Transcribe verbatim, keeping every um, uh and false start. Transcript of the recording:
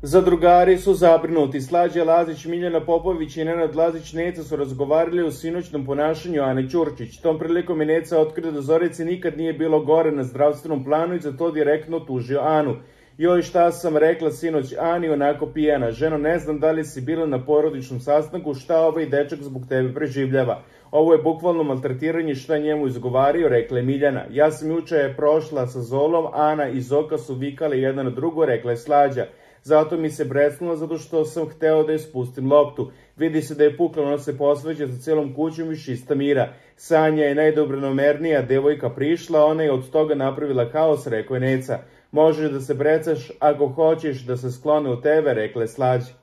Zadrugari su zabrinuti. Slađa Lazić, Miljana Popović i Nenad Lazić Neca su razgovarali o sinoćnom ponašanju Ane Ćurčić. Tom prilikom je Neca otkrio da Zorici nikad nije bilo gore na zdravstvenom planu i za to direktno tužio Anu. Joj, šta sam rekla sinoć Ani, onako pijena. Ženo, ne znam da li si bila na porodičnom sastanku, šta ovaj dečak zbog tebe preživljava. Ovo je bukvalno maltretiranje, šta njemu izgovario, rekla je Miljana. Ja sam juče prošla sa Zolom, Ana i Zoka su vikali jedna na drugo, rekla je Slađa. Zato mi se brecnulo, zato što sam hteo da je spustim loptu. Vidi se da je pukla, ona se posveđa za celom kućom i šista mira. Sanja je najdobronamernija devojka prišla, ona je od toga napravila haos, rekao je Neca. Možeš da se brecaš ako hoćeš da se sklone u tebe, rekla je Slađa.